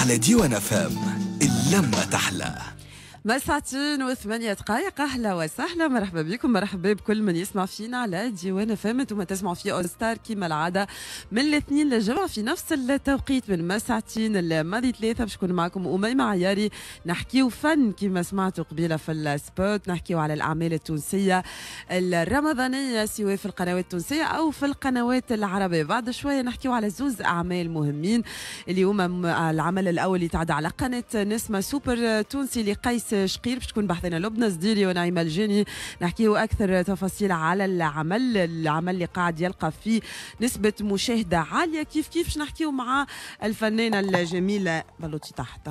على ديوان FM، اللمة تحلى. ما ساعتين و8 دقائق. اهلا وسهلا، مرحبا بكم، مرحبا بكل من يسمع فينا على ديوان FM. انتم تسمعوا في اوستار كيما العادة من الاثنين للجمعة في نفس التوقيت، من ما ساعتين الماضي 3، باش نكون معكم اميمة عياري. نحكيو فن كيما سمعتوا قبيلة في ال spot، نحكيو على الاعمال التونسية الرمضانيه، سواء في القنوات التونسية او في القنوات العربيه. بعد شوية نحكيو على زوز اعمال مهمين اللي هما العمل الاول اللي تعدى على قناة نسمه، سوبر تونسي لقيس شقير، باش تكون بحذانا لبنى زديري ونعيمه الجاني، نحكيو اكثر تفاصيل على العمل، العمل اللي قاعد يلقى فيه نسبه مشاهده عاليه. كيف كيف باش نحكيو مع الفنانة الجميلة بلوتي تحت،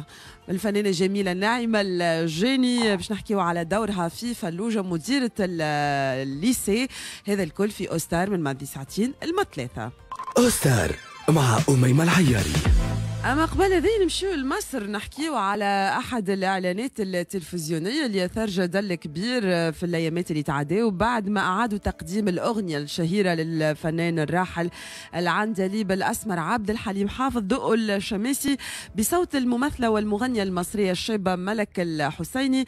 الفنانة الجميلة نعيمه الجاني، باش نحكيو على دورها في فلوجه، مديره ال lycée. هذا الكل في اوستار من ماضي ساعتين الما 3. اوستار مع أميمة العياري. أما قبل هذه نمشيو لمصر، نحكيو على أحد الإعلانات التلفزيونية اللي أثار جدل كبير في الأيامات اللي تعداو، بعد ما أعادوا تقديم الأغنية الشهيرة للفنان الراحل العندليب الأسمر عبد الحليم حافظ، دقوا الشماسي، بصوت الممثلة والمغنية المصرية الشابة ملك الحسيني.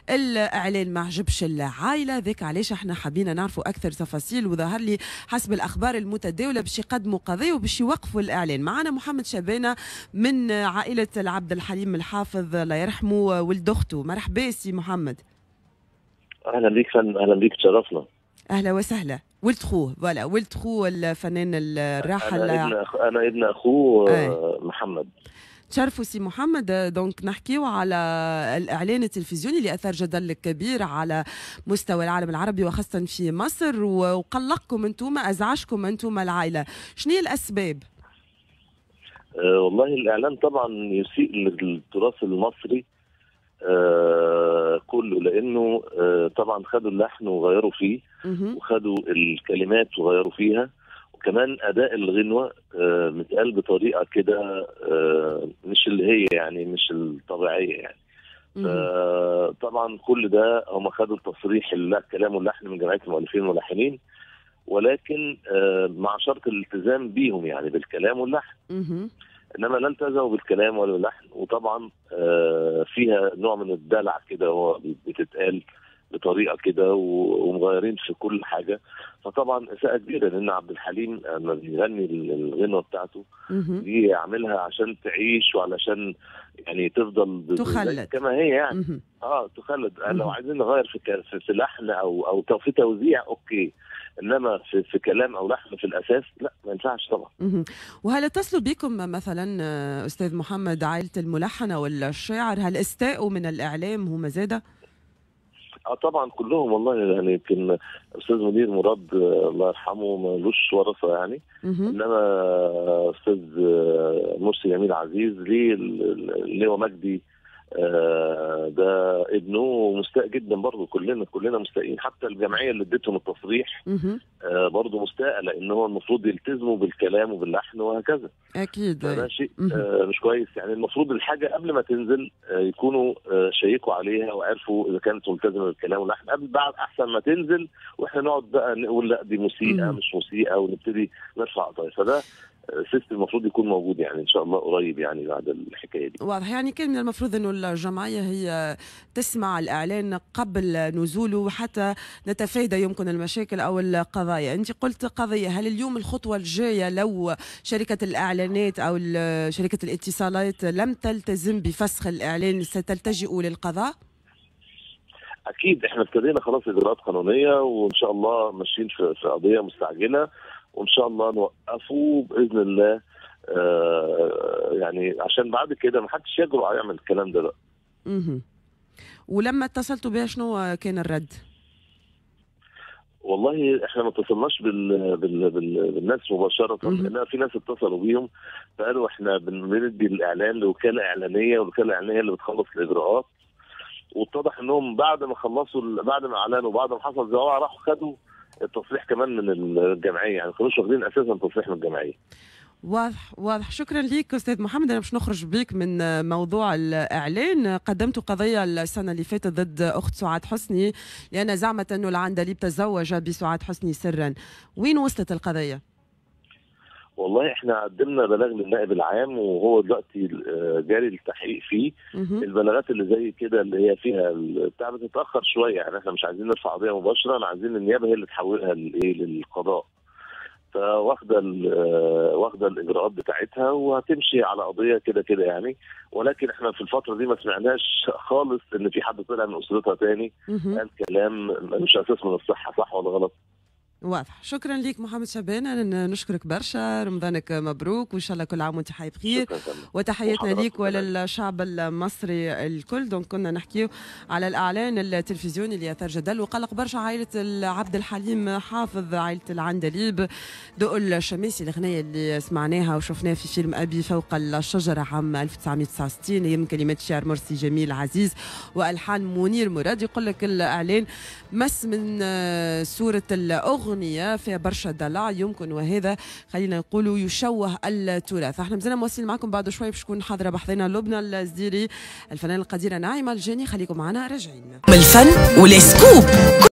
الإعلان ما عجبش العائلة، ذاك علاش احنا حبينا نعرفوا أكثر تفاصيل، وظهر لي حسب الأخبار المتداولة باش يقدموا قضية وباش يوقفوا الإعلان. معنا محمد شبانة من عائلة العبد الحليم الحافظ الله يرحمه، ولد أخته. مرحبا سي محمد. اهلا بيك فندم، اهلا بيك، تشرفنا. اهلا وسهلا. ولد خوه، voilà، ولد خوه الفنان الراحل. انا ابن اخوه. محمد. تشرفوا سي محمد. donc نحكيو على الاعلان التلفزيوني اللي اثار جدل كبير على مستوى العالم العربي وخاصة في مصر، وقلقكم انتم، ازعجكم انتم العائله. شنو هي الاسباب؟ والله الاعلان طبعا يسيء للتراث المصري كله، لانه طبعا خدوا اللحن وغيروا فيه وخدوا الكلمات وغيروا فيها، وكمان اداء الغنوه متقال بطريقة كده مش اللي هي يعني مش الطبيعية يعني. طبعا كل ده هم خدوا التصريح، الكلام واللحن، من جمعية المؤلفين والملحنين، ولكن مع شرط الالتزام بيهم، يعني بالكلام واللحن. انما لا التزموا بالكلام ولا باللحن، وطبعا فيها نوع من الدلع كده، هو بتتقال بطريقة كده ومغيرين في كل حاجه. فطبعا اساءه كبيره، لان عبد الحليم لما بيغني الغنوه بتاعته دي عاملها عشان تعيش وعلشان يعني تفضل تخلد. كما هي يعني. تخلد. لو عايزين نغير في لحن او في توزيع okay، انما في كلام او لحن في الاساس لا، ما ينفعش طبعا. وهل اتصلوا بكم مثلا استاذ محمد، عائلة الملحن او الشاعر؟ هل استاءوا من الاعلام هم زاده؟ اه طبعا كلهم والله، يعني يمكن استاذ منير مراد الله يرحمه ملوش ورثه يعني، انما استاذ مرسي جميل عزيز ليه، اللي هو مجدي ده ابنه، مستاء جدا برضه. كلنا كلنا مستائين، حتى الجمعية اللي اديتهم التصريح برضه مستاء، لان هو المفروض يلتزموا بالكلام وباللحن وهكذا. فده شيء مش كويس يعني. المفروض الحاجة قبل ما تنزل يكونوا شيكوا عليها وعرفوا اذا كانت ملتزمة بالكلام واللحن قبل بعد، احسن ما تنزل واحنا نقعد بقى نقول لا دي مسيئه مش مسيئه ونبتدي نرفع قضايا. فده system المفروض يكون موجود يعني ان شاء الله قريب يعني بعد الحكاية دي. واضح، يعني كان من المفروض انه الجمعية هي تسمع الاعلان قبل نزوله حتى نتفادى يمكن المشاكل او القضايا. انت قلت قضيه، هل اليوم الخطوة الجاية لو شركة الاعلانات او شركة الاتصالات لم تلتزم بفسخ الاعلان ستلتجئ للقضاء؟ اكيد، احنا ابتدينا خلاص اجراءات قانونيه، وان شاء الله ماشيين في قضية مستعجله، وان شاء الله نوقفه باذن الله، يعني عشان بعد كده ما حدش يجرؤ يعمل الكلام ده بقى. ولما اتصلتوا بها شنو كان الرد؟ والله احنا ما اتصلناش بالناس مباشره، لان في ناس اتصلوا بيهم فقالوا احنا بندي الاعلان لوكالة اعلانيه، والوكالة الاعلانية اللي بتخلص الاجراءات. واتضح انهم بعد ما خلصوا، بعد ما اعلنوا وبعد ما حصل زواع، راحوا خدوا التصريح كمان من الجمعيه، يعني ما كانوش واخدين اساسا تصريح من الجمعيه. واضح واضح. شكرا لك استاذ محمد. انا باش نخرج بك من موضوع الاعلان. قدمت قضية السنة اللي فاتت ضد اخت سعاد حسني لان زعمت انه العندليب تزوج بسعاد حسني سرا. وين وصلت القضية؟ والله احنا قدمنا بلاغ للنائب العام، وهو دلوقتي جاري التحقيق فيه. البلاغات اللي زي كده اللي هي فيها بتاع بتتاخر شوية، يعني احنا مش عايزين نرفع قضية مباشرة، احنا عايزين النيابة هي اللي تحولها للقضاء. فواخده واخده الاجراءات بتاعتها وهتمشي على قضية كده كده يعني. ولكن احنا في الفترة دي ما سمعناش خالص ان في حد طلع من اسرتها تاني قال كلام مش اساس من الصحة، صح ولا غلط؟ واضح. شكرا لك محمد شبان، انا نشكرك برشا، رمضانك مبروك وان شاء الله كل عام وانت حي بخير، وتحياتنا ليك وللشعب المصري الكل. donc كنا نحكيو على الاعلان التلفزيوني اللي اثار جدل وقلق برشا عائلة عبد الحليم حافظ، عائلة العندليب، دق الشماسي، الاغنية اللي سمعناها وشفناها في فيلم ابي فوق الشجرة عام 1969، هي من كلمات الشاعر مرسي جميل عزيز والحان منير مراد. يقول لك الاعلان مس من صوره الاغنية فيها برشا دلع يمكن، وهذا خلينا نقولوا يشوه التراث. احنا مازلنا مواصلين معكم بعد شوي باش تكون حاضره بحذنا لبنى الزديري، الفنانة القديره نعيمه الجاني. خليكم معنا راجعين. الفن وال scoop.